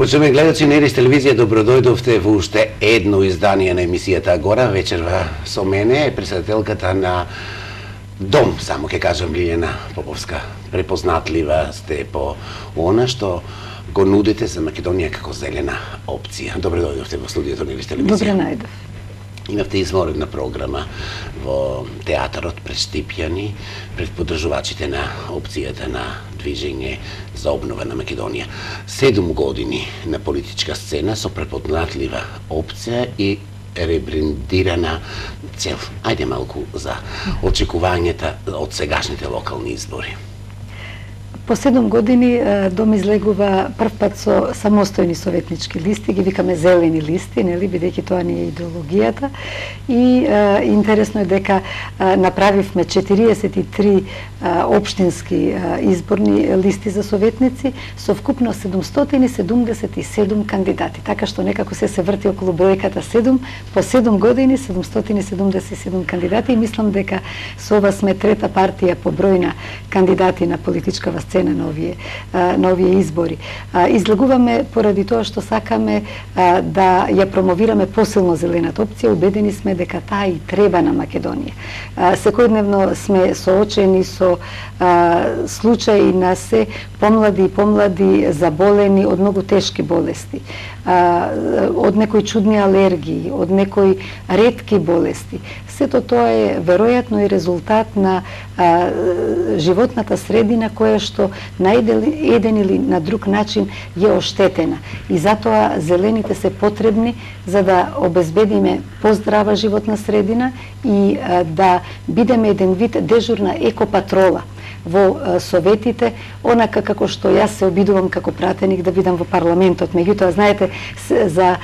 Почитувани гледачи на Ирис телевизија, добродојдовте во уште едно издание на емисијата Агора. Вечерва со мене е председателката на Дом, само ќе кажам, Лиљана Поповска. Препознатлива сте по она што го нудите за Македонија како зелена опција. Добродојдовте во студиото на Ирис телевизија. Добре најдов. Имавте изворена програма во театарот пред Штипјани, пред поддржувачите на опцијата на движење за обнова на Македонија. 7 години на политичка сцена со препознатлива опција и ребрендирана цел. Ајде малку за очекувањата од сегашните локални избори. По 7 години Дом излегува прв пат со самостојни советнички листи, ги викаме зелени листи, нели, бидејќи тоа ни е идеологијата. И интересно е дека направивме 43 општински изборни листи за советници со вкупно 777 кандидати. Така што некако се врти околу бројката 7, по 7 години 777 кандидати и мислам дека со ова сме трета партија по број на кандидати на политичкава сцена на овие избори. Излегуваме поради тоа што сакаме да ја промовираме посилно зелената опција. Убедени сме дека таа и треба на Македонија. Секојдневно сме соочени со случаи на се помлади и помлади заболени од многу тешки болести, од некои чудни алергии, од некои ретки болести. Сето тоа е веројатно и резултат на животната средина која што на еден или на друг начин е оштетена. И затоа зелените се потребни за да обезбедиме поздрава животна средина и да бидеме еден вид дежурна екопатрола во советите, онака како што јас се обидувам како пратеник да бидам во парламентот. Меѓутоа, знаете, за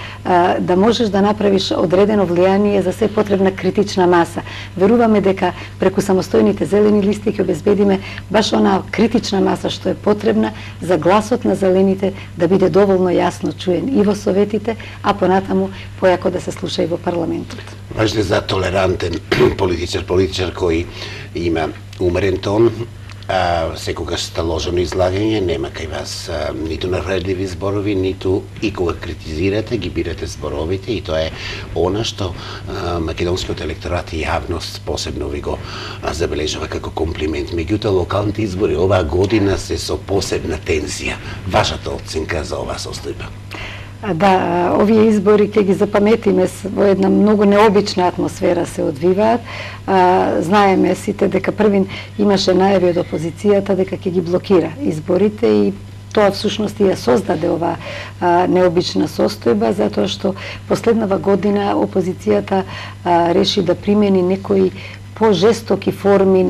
да можеш да направиш одредено влијание, за се потребна критична маса. Веруваме дека преку самостојните зелени листи ќе обезбедиме баш онаа критична маса што е потребна за гласот на зелените да биде доволно јасно чуен и во советите, а понатаму појако да се слуша и во парламентот. Важно за толерантен политичар кој има умерен тон, секогаш сталожено излагање, нема кај вас ниту навредливи зборови, ниту и кога критизирате, ги бирате зборовите и тоа е она што македонскиот електорат и јавност посебно ви го забележува како комплимент. Меѓутоа, локалните избори оваа година се со посебна тензија. Вашата оценка за оваа состојба? Да, овие избори ќе ги запаметиме во една многу необична атмосфера се одвиваат. Знаеме сите дека првин имаше најави од опозицијата дека ќе ги блокира изборите и тоа всушност ја создаде оваа необична состојба, затоа што последнава година опозицијата реши да примени некои пожестоки форми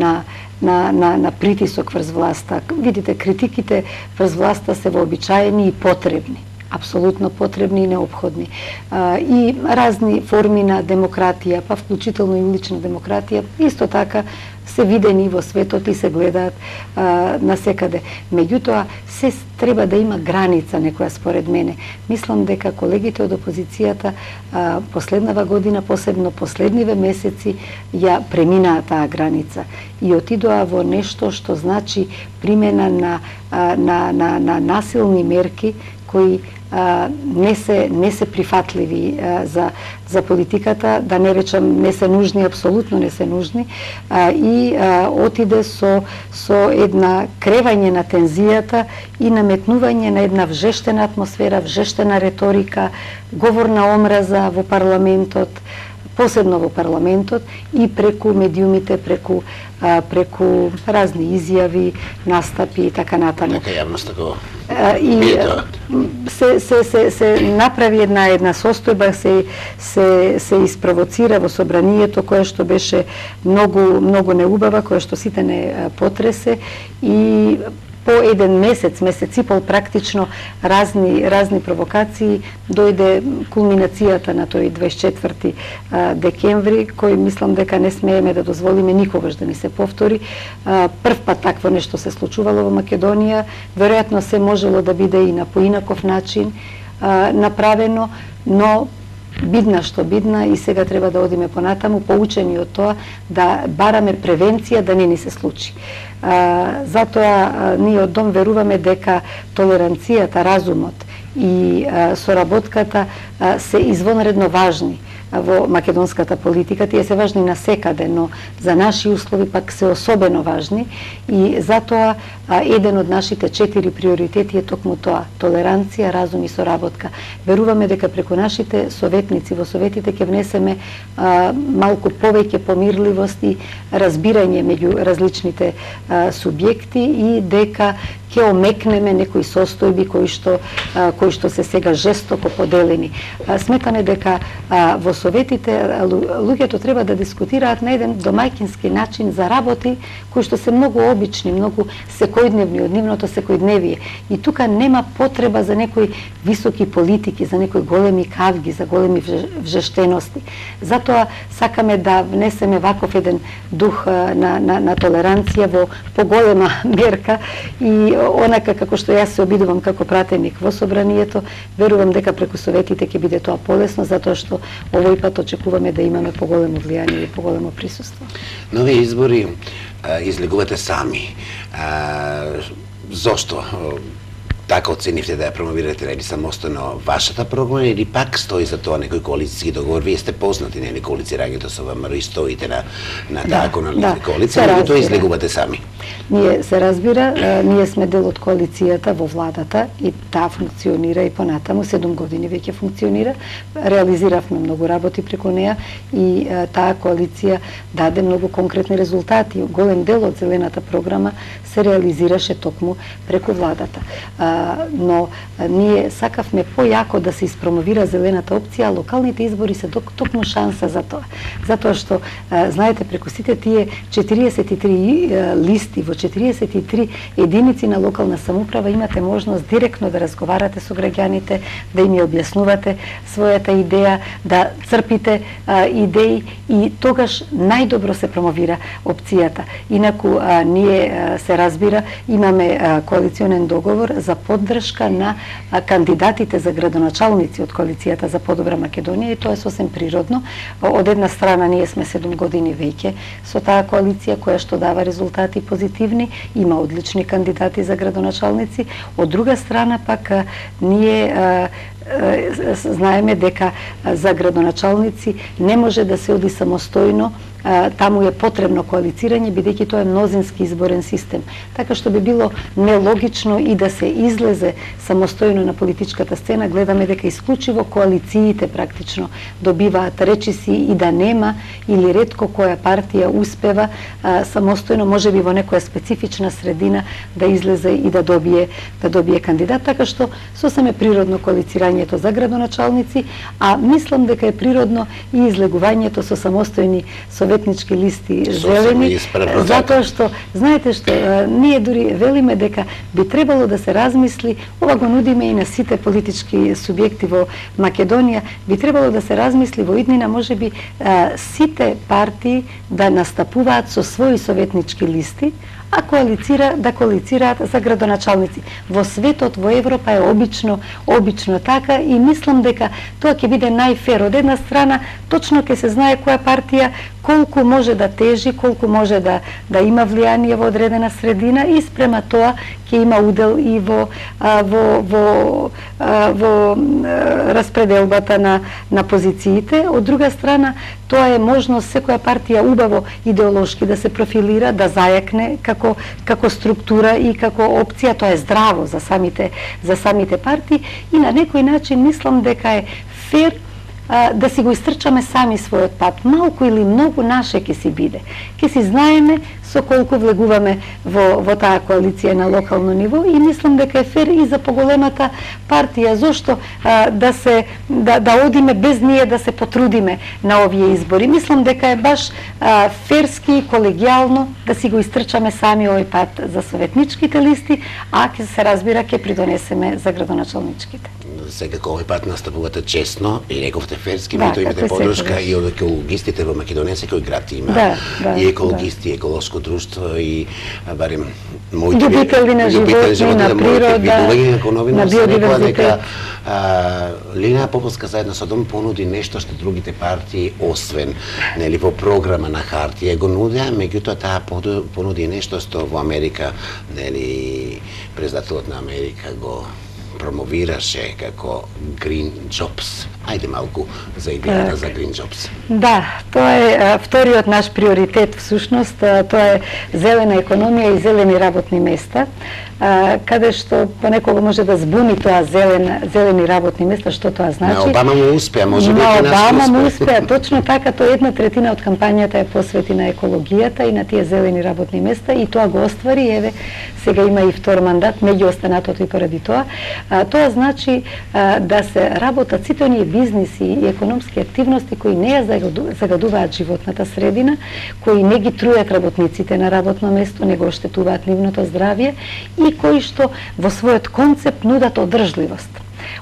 на притисок врз власта. Видите, критиките врз власта се вообичаени и потребни. Апсолутно потребни и неопходни. И разни форми на демократија, па вклучително и улична демократија, исто така се видени во светот и се гледаат насекаде. Меѓутоа, се треба да има граница некоја според мене. Мислам дека колегите од опозицијата последнава година, посебно последниве месеци, ја преминаа таа граница и отидоа во нешто што значи примена на насилни мерки кои не се прифатливи за политиката, да не речам не се нужни, апсолутно не се нужни, и отиде со една кревање на тензијата и наметнување на една вжештена атмосфера, вжештена реторика, говор на омраза во парламентот, посебно во парламентот и преку медиумите, преку разни изјави, настапи и така натаму. Нека јавноста го и се направи една состојба, се испровоцира во собранието кое што беше многу неубава, кое што сите не потресе и по еден месец и пол практично разни провокации дојде кулминацијата на тој 24 декември, кој мислам дека не смееме да дозволиме никогаш да ни се повтори. Прв пат такво нешто се случувало во Македонија, веројатно се можело да биде и на поинаков начин направено, но бидна што бидна и сега треба да одиме понатаму, поучени од тоа да бараме превенција да не ни се случи. Затоа ние од Дом веруваме дека толеранцијата, разумот и соработката се извонредно важни во македонската политика. Тие се важни насекаде, но за наши услови пак се особено важни и затоа еден од нашите 4 приоритети е токму тоа: толеранција, разум и соработка. Веруваме дека преку нашите советници во советите ќе внесеме малку повеќе помирливост и разбирање меѓу различните субјекти и дека ќе омекнеме некои состојби кои што се сега жестоко поделени. Сметаме дека во советите луѓето треба да дискутираат на еден домаќински начин за работи кои што се многу обични, многу секојдневни од нивното секојдневие. И тука нема потреба за некои високи политики, за некои големи кавги, за големи вжештености. Затоа сакаме да внесеме ваков еден дух на толеранција во поголема мерка и онака како што јас се обидувам како пратеник во собранието, верувам дека преку советите ќе биде тоа полесно, затоа што овој пат очекуваме да имаме поголемо влијание и поголемо присуство. Нови избори излегувате сами. Зошто така оценивте да ја промовирате или самостојно вашата програма или пак стои за тоа некој коалициски договор? Вие сте познати на коалицирањето со ВМРО и стоите на таа коалиција, но тоа излегувате сами. Ние се разбира, ние сме дел од коалицијата во владата и таа функционира и понатаму, 7 години веќе функционира. Реализиравме многу работи преку неа и таа коалиција даде многу конкретни резултати. Голем дел од зелената програма се реализираше токму преку владата. Но ние сакавме појако да се испромовира зелената опција, а локалните избори се токму шанса за тоа. Затоа што, знаете, преку сите тие 43 листи во 43 единици на локална самоуправа имате можност директно да разговарате со граѓаните, да им ја објаснувате својата идеја, да црпите идеи и тогаш најдобро се промовира опцијата. Инаку ние се разбира, имаме коалиционен договор за поддршка на кандидатите за градоначалници од коалицијата за подобра Македонија и тоа е сосем природно. Од една страна ние сме 7 години веќе со таа коалиција која што дава резултати позитивни, има одлични кандидати за градоначалници. Од друга страна пак ние знаеме дека за градоначалници не може да се оди самостојно, таму е потребно коалицирање, бидејќи тоа е мнозински изборен систем. Така што би било нелогично и да се излезе самостојно на политичката сцена. Гледаме дека исклучиво коалициите практично добиваат речиси и да нема или ретко која партија успева самостојно, можеби во некоја специфична средина да излезе и да добие кандидат. Така што сосем е природно коалицирањето за градоначалници, а мислам дека е природно и излегувањето со самостојни советнички листи зелени, затоа што, знаете што, ние дури велиме дека би требало да се размисли, ова го нудиме и на сите политички субјекти во Македонија, би требало да се размисли во иднина, можеби сите партии да настапуваат со своји советнички листи, а да коалицираат за градоначалници. Во светот, во Европа е обично така и мислам дека тоа ќе биде најфер. Од една страна, точно ќе се знае која партија колку може да тежи, колку може да има влијание во одредена средина и спрема тоа ќе има удел и во распределбата на позициите. Од друга страна, тоа е можност секоја партија убаво идеолошки да се профилира, да зајакне како структура и како опција. Тоа е здраво за самите партии и на некој начин мислам дека е фер да си го истрчаме сами својот пат. Малку или многу наше ќе си биде. Ќе си знаеме со колку влегуваме во таа коалиција на локално ниво и мислам дека е фер и за поголемата партија. Зошто да одиме без ние да се потрудиме на овие избори? Мислам дека е баш ферски и колегијално да си го истрчаме сами овој пат за советничките листи, а ќе се разбира ќе придонесеме за градоначалничките. Секако овој пат настапувате честно и рековте ферски, меѓутоа имате поддршка и од екологистите во Македонија, секој град има и екологисти, еколошко друштво и барем моите љубители на животни, на природа, на биодиверзитет. Линеја Поповска заедно со Дом понуди нешто што другите партии освен во програма на хартија го нудеа, меѓутоа таа понуди нешто што во Америка председателот на Америка го промовираше како Green Jobs. Ајде малку за идејата за Green Jobs. Да, тоа е вториот наш приоритет всушност, тоа е зелена економија и зелени работни места, каде што понекога може да збуни тоа зелени работни места, што тоа значи. На Обама му успеа, може би на Обама му успеа, точно така, тоа 1/3 од кампањата е посвети на екологијата и на тие зелени работни места и тоа го оствари, еве, сега има и втор мандат, меѓу останатото и поради тоа. Тоа значи да се работат сите оние бизниси и економски активности кои не ја загадуваат животната средина, кои не ги трујат работниците на работно место, не го оштетуваат нивното здравје и кои што во својот концепт нудат одржливост.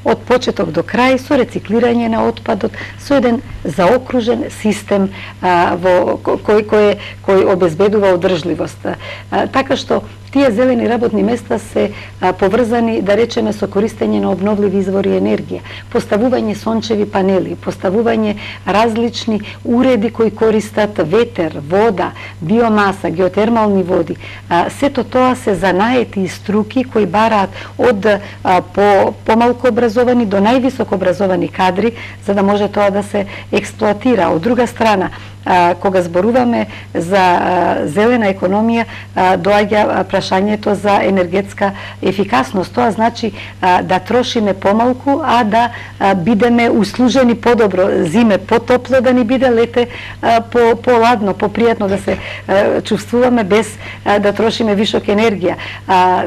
Од почеток до крај, со рециклирање на отпадот, со еден заокружен систем кој обезбедува одржливост. Така што тие зелени работни места се поврзани, да речеме, со користење на обновливи извори енергија, поставување сончеви панели, поставување различни уреди кои користат ветер, вода, биомаса, геотермални води. Сето тоа се занаети и струки кои бараат од помалку образовани до највисоко образовани кадри, за да може тоа да се експлоатира. Од друга страна, кога зборуваме за зелена економија, доаѓа прашањето за енергетска ефикасност. Тоа значи да трошиме помалку, а да бидеме услужени подобро. Зиме потопло да ни биде, лете поладно, попријатно да се чувствуваме без да трошиме вишок енергија.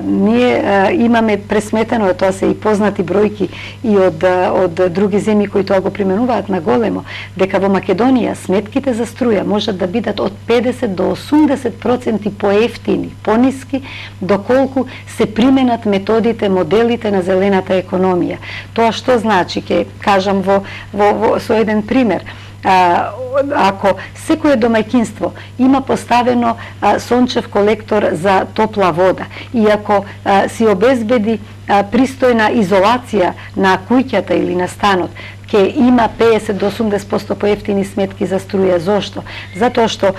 Ние имаме пресметено, тоа се и познати бројки и од други земји кои тоа го применуваат на големо, дека во Македонија сметките за струја можат да бидат од 50 до 80% поевтини, пониски, доколку се применат методите, моделите на зелената економија. Тоа што значи, ќе кажам со еден пример. Ако секое домаќинство има поставено сончев колектор за топла вода и ако си обезбеди пристојна изолација на куќата или на станот, ќе има 50 до 80% поевтини сметки за струја. Зошто? Затоа што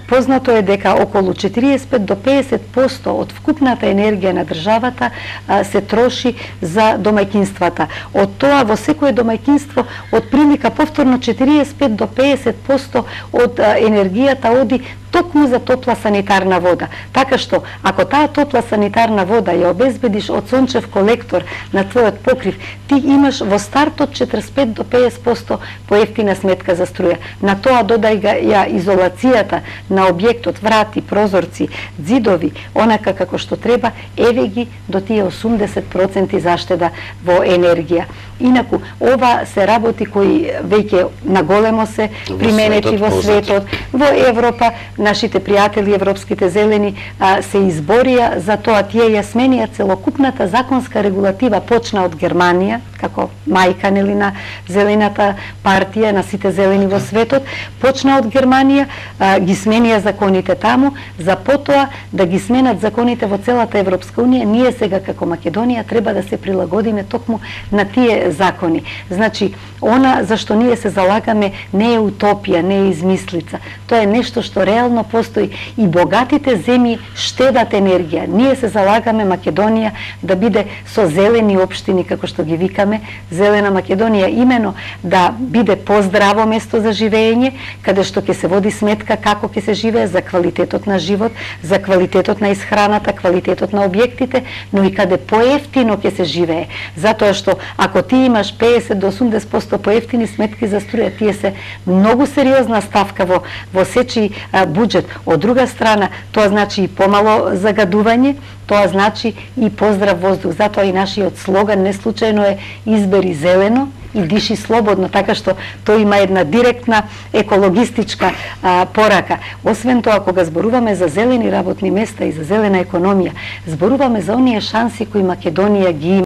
познато е дека околу 45 до 50% од вкупната енергија на државата се троши за домаќинствата. Од тоа во секое домаќинство од прилика повторно 45 до 50% од енергијата оди токму за топла санитарна вода. Така што, ако таа топла санитарна вода ја обезбедиш од сончев колектор на твојот покрив, ти имаш во стартот 45 до 50% поевтина сметка за струја. На тоа додај ја изолацијата на објектот, врати, прозорци, ѕидови, онака како што треба, еве ги до тие 80% заштеда во енергија. Инаку, ова се работи кои веќе наголемо се применети во светот, во Европа. Нашите пријатели европските зелени се изборија за тоа, тие ја сменија целокупната законска регулатива, почна од Германија, како мајка нели на зелената партија, на сите зелени во светот, почна од Германија, ги сменија законите таму, за потоа да ги сменат законите во целата Европска унија. Ние сега како Македонија треба да се прилагодиме токму на тие закони. Значи, она за што ние се залагаме не е утопија, не е измислица. Тоа е нешто што реално постои и богатите земји штедат енергија. Ние се залагаме Македонија да биде со зелени општини, како што ги викаме, зелена Македонија, имено да биде поздраво место за живење, каде што ќе се води сметка како ќе се живее, за квалитетот на живот, за квалитетот на исхраната, квалитетот на објектите, но и каде поевтино ќе се живее. Затоа што ако ти имаш 50 до 80% поевтини сметки за струја, тие се многу сериозна ставка во сечи буџет. Од друга страна, тоа значи и помало загадување, тоа значи и поздрав воздух. Затоа и нашиот слоган не случајно е избери зелено и диши слободно, така што тој има една директна екологистичка порака. Освен тоа, кога зборуваме за зелени работни места и за зелена економија, зборуваме за оние шанси кои Македонија ги има.